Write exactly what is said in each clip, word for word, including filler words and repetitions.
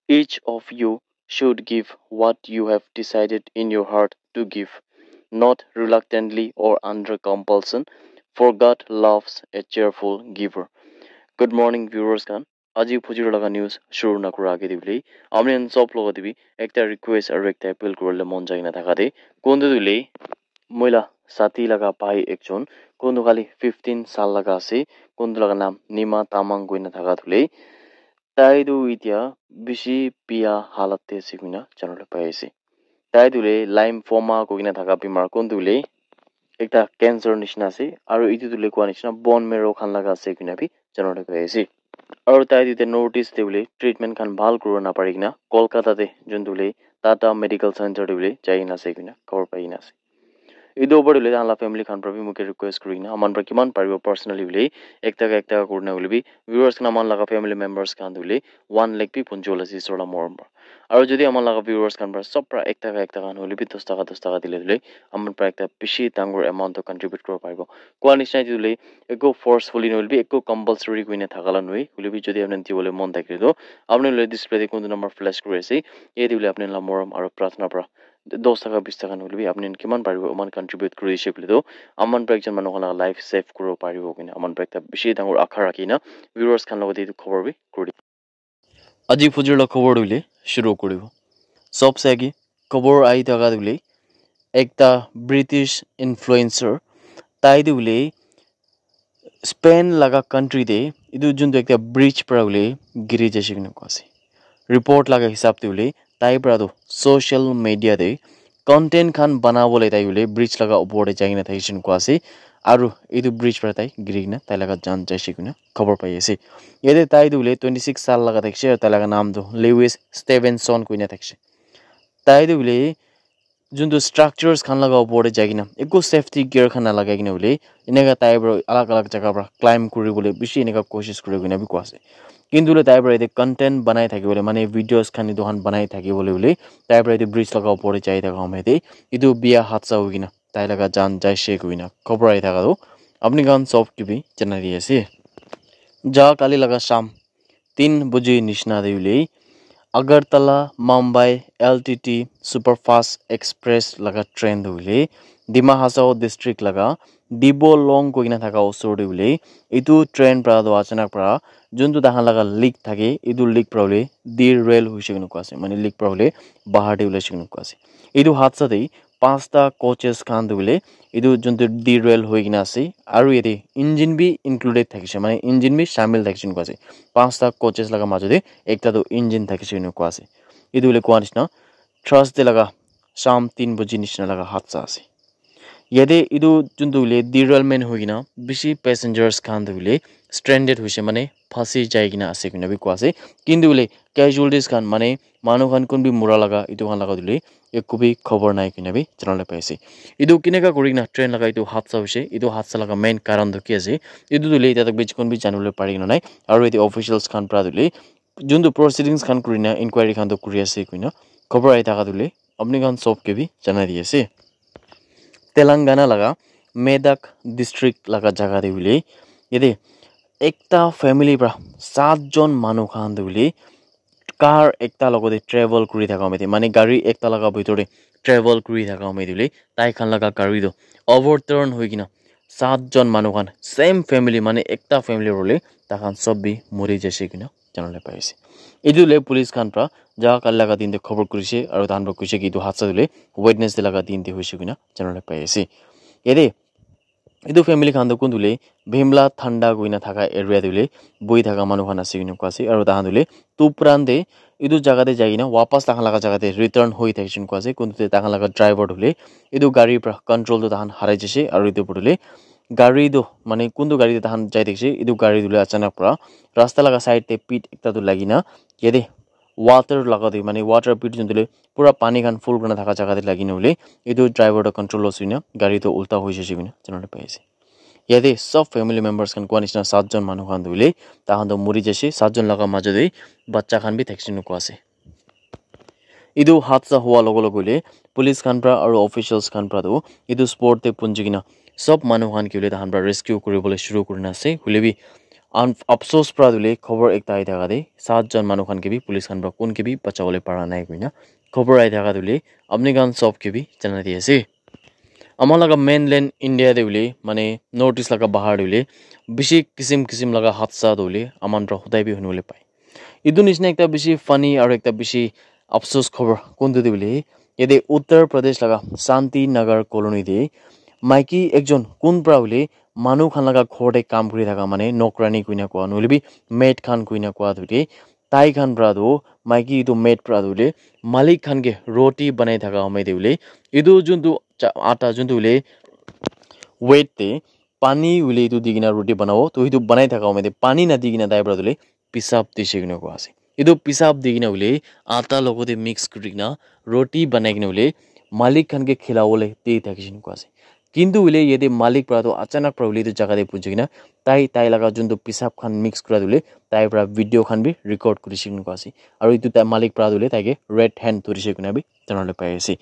Each of you should give what you have decided in your heart to give, not reluctantly or under compulsion, for God loves a cheerful giver. Good morning, viewers khan. Aji phujir laga news shuru nakura age de bole, amni khan sob logot de bi ekta request aru ekta appeal kuribole mon jai na thaka de, kuntu tu le moi la sati laga bhai ekjon, kuntu khali fifteen sal laga ase, kuntu laga naam Nima Tamang koina thaka tu le, tai tu etia bishi bia halat te ase koina janabole pai ase. Tai tu le lymphoma koina thaka bimar, kuntu le ekta cancer nishina ase, aru etu tu le koa nishina bone marrow khan laga ase koina bi janabole pai ase. Aru tai tu te North East te bole treatment khan bhal kuribo napari kena Kolkata te juntu le Tata Medical Center te bole jai kena ase koina khobor pai kena ase. Etu opor te hoile tahan la family khan para bi moike request kuri kena aman para kiman paribo personally hoile ekta ka ekta ka kurina hoile bi viewers khan aman laga family members khan tu hoile one lakh bi punji wala ase isor la morom para. Aru jodi aman laga viewers khan para sob para ekta ka ekta khan hoile bi dos taka dos taka dile hoile aman para ekta bishi dangor amount to contribute kuribo paribo. Koa nishina etu hoile ekko forcefully nohoile bi ekko compulsory koina thaka la nohoi. Hoile bi jodi apni dibole mon thakile toh apni hoile display te kuntu number flash kuri ase. Yate hoile apni la morom aru pratna para dos taka bis taka nohoile bi apni khan kiman paribo eman contribute kuri dise koile toh aman para ekjon manu khan laga life save kuribo paribo koina aman para ekta bishi dangor akha rakhi kena viewers khan logot te etu khobor bi kuri di. Aji phujir la khobor tu hoile shuru kuribo. Sob se agi khobor ahi thaka tu hoile ekta British influencer tai tu hoile Spain laga country te etu juntu ekta bridge para hoile giri jaise koina koa ase. Report laga hisab te hoile tai para tu social media te content khan banabole tai hoile bridge laga opor te jai kena thakishe koina koa ase. Aru etu bridge para tai giri kena tai laga jaan jaise koina khobor pai ase. Yate tai tu hoile twenty six sal laga thakishe aru tai laga naam tu Lewis Stevenson koina thakishe. Tai tu hoile juntu structures khan laga opor te jai kena ekko safety gear khan nalagai kena hoile eneka tai para alag alag jaga para climb kuribole bishi eneka koshish kuri koina bi koa ase. Kintu hoile tai para yate content banai thakibole mane videos khan etu khan banai thakibole hoile tai para yate bridge laga opor te jai thaka home te etu bia hadsa hoi kena tai laga jaan jaise koina khobor ahi thaka tu apni khan sob ke bi janai di ase. Ja kali laga sham tin baji nishina te hoile Agartala Mumbai L T T Superfast Express laga train tu hoile Dima Hasao district laga Dibolong koina thaka osor te hoile etu train para tu achanak para juntu tahan laga leak thake etu leak para hoile derail hoise koina koa ase mane leak para hoile bahar te ulaise koina koa ase. Etu hadsa te panchta coaches khan tu hoile etu juntu derail hoi kena ase aru yate engine bi included thakishe mane engine bi shamil thakishe koina koa ase. Panchta coaches laga majo te ekta tu engine thakishe koina koa ase. Etu hoile koa nishina Thursday laga sham tin baji nishina laga hadsa ase. Yate etu juntu hoile derailment hoi kena bishi passengers khan tu hoile stranded hoise mane phasi jai kena ase koina bi koa ase. Kintu hoile casualties khan mane manu khan kun bi mura laga etu khan laga tu hoile ekko bi khobor nai koina bi janabole pai ase. Etu keneka kuri kena train laga etu hadsa hoise etu hadsa laga main karan tu ki ase etu tu hoile etia tak bi jikun bi janabole pari kena nai. Aru yate officials khan para tu hoile juntu proceedings khan kuri na inquiry khan tu kuri ase koina khobor ahi thaka tu hoile apni khan sob ke bi janai di ase. Telangana laga Medak district laga jaga te hoile yate ekta family para sat jon manu khan tu hoile car ekta logot te travel kuri thaka home te mane gari ekta laga bitor te travel kuri thaka home te hoile tai khan laga gari tu overturn hoi kena sat jon manu khan same family mane ekta family hoile tai khan sob bi mori jaise koina janabole pai ase. Etu hoile police khan para ja kali laga din te khobor kurise aru tahan para koise ki etu hadsa tu hoile Wednesday laga din te hoise koina janabole pai ase. Yate etu family khan tu kun tu hoile Bhimla Thanda koina thaka area tu hoile bohi thaka manu khan ase koina koa ase aru tahan tu hoile Tupran te etu jaga te jai kena wapas tahan laga jaga te return hoi thakishe koina koa ase. Kun tu te tahan laga driver tu hoile etu gari para control tu tahan harai jaise aru etu opor tu hoile gari tu mane kuntu gari te tahan jai thakishe etu gari tu hoile achanak para rasta laga side te pit ekta tu lagi na yate water laga te mane water pit juntu hoile pura pani khan full kurina thaka jaga te lagi na hoile etu driver tu control loss hoina gari tu ulta hoi jaise koina janabole pai ase. Yate sob family members khan koa nishina sat jon manu khan tu hoile tahan tu mori jaise sat jon laga majo te bacha khan bi thakishe koina koa ase. Etu hadsa hua logo logo hoile police khan para aru officials khan para tu etu spot te punji kena sob manu khan ki hoile tahan para rescue kuribole shuru kurina ase hoile bi An-, afsos pra tu hoile khobor ekta ahi thaka te, saat jon manu khan ke bi, police khan pra kun ke bi bachawole para nai koina khobor ahi thaka tu hoile, apni khan sob ke bi janai di ase. Ama laga mainland India te hoile, mane North East laga bahar te hoile, bishi kisim kisim laga hadsa tu hoile, aman pra hodai bi hunibole pai. Etu nishina ekta bishi funny aru ekta bishi afsos khobor kuntu te hoile, yate Uttar Pradesh laga Shanti Nagar colony te maiki ekjon kun pra hoile manu khan laga ghor te kam kuri thaka, mane nokrani koina koa, nohoile bi maid khan koina koa tu te, tai khan pra tu, maiki etu maid pra tu hoile malik khan ke roti banai thaka home te hoile, etu juntu cha-, ata juntu hoile weight te pani hoile etu di kena roti banabo, to etu banai thaka home te pani na di kena tai pra tu hoile pisap dise koina koa ase. Etu pisap di kena hoile ata logote mix kuri kena roti banai kena hoile malik khan ke khilabole de thakishe koina koa ase. Kintu hoile yate malik pra tu achanak pra hoile etu jaga te punchi kena tai, tai laga juntu pisap khan mix kura tu hoile tai pra video khan bi record kurishe koina koa ase. Aru etu tai malik pra tu hoile tai ke red hand dhurishe koina bi janabole pai ase.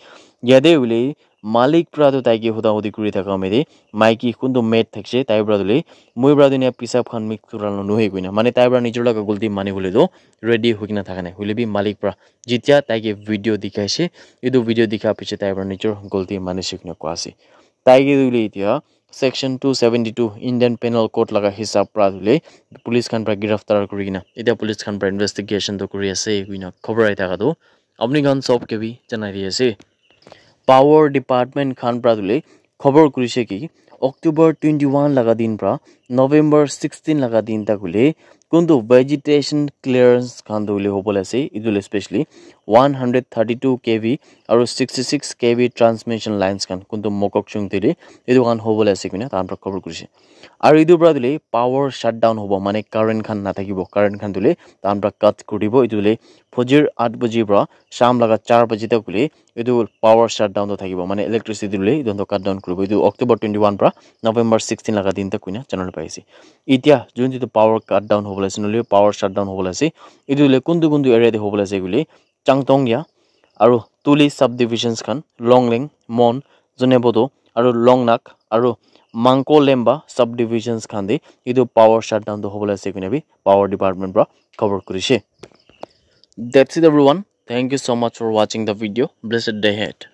Yate hoile malik pra tu tai ke huda hudi kuri thaka home te maiki kuntu maid thakishe, tai pra tu hoile moi pra tu enia pisap khan mix kura la nohoi koina, mane tai pra nijor laga galti mani bole tu ready hoi kena thaka nai, hoile bi malik pra jitia tai ke video dikhaishe, etu video dikha piche tai pra nijor galti manishe koina koa ase. Tai ke tu hoile etia section two seventy two Indian Penal Code laga hisab pra tu hoile police khan pra giraftar kuri kena etia police khan pra investigation tu kuri ase koina khobor ahi thaka tu apni khan sob ke bi janai di ase. Power Department khan pra tu hoile khobor kurishe ki October twenty one laga din pra November sixteen laga din tak hoile kuntu vegetation clearance khan tu hoile hobole ase, etu hoile specially one hundred thirty two K V aru sixty six K V transmission lines khan kuntu Mokokchung te hoile etu khan hobole ase koina tai khan pra khobor kurishe. Aru etu pra tu hoile power shutdown hobo, mane current khan nathakibo, current khan tu hoile tai khan pra cut kuri dibo, etu hoile fajir aat baji pra sham laga char baji tak hoile etu power shutdown tu thakibo, mane electricity tu hoile etu khan tu cut down kuribo. Etu October twenty one pra November sixteen laga din tak koina janabole pai ase. Etia juntu tu power cut down hobole ase, nohoile power shutdown hobole ase, etu hoile kuntu kuntu area te hobole ase koile Changtongya aru Tuli subdivisions khan, Longleng, Mon, Zunheboto aru Longnak aru Mangkolemba subdivisions khan te etu power shutdown tu hobole ase koina bi Power Department pra khobor kurishe. That's it everyone. Thank you so much for watching the video. Blessed day ahead.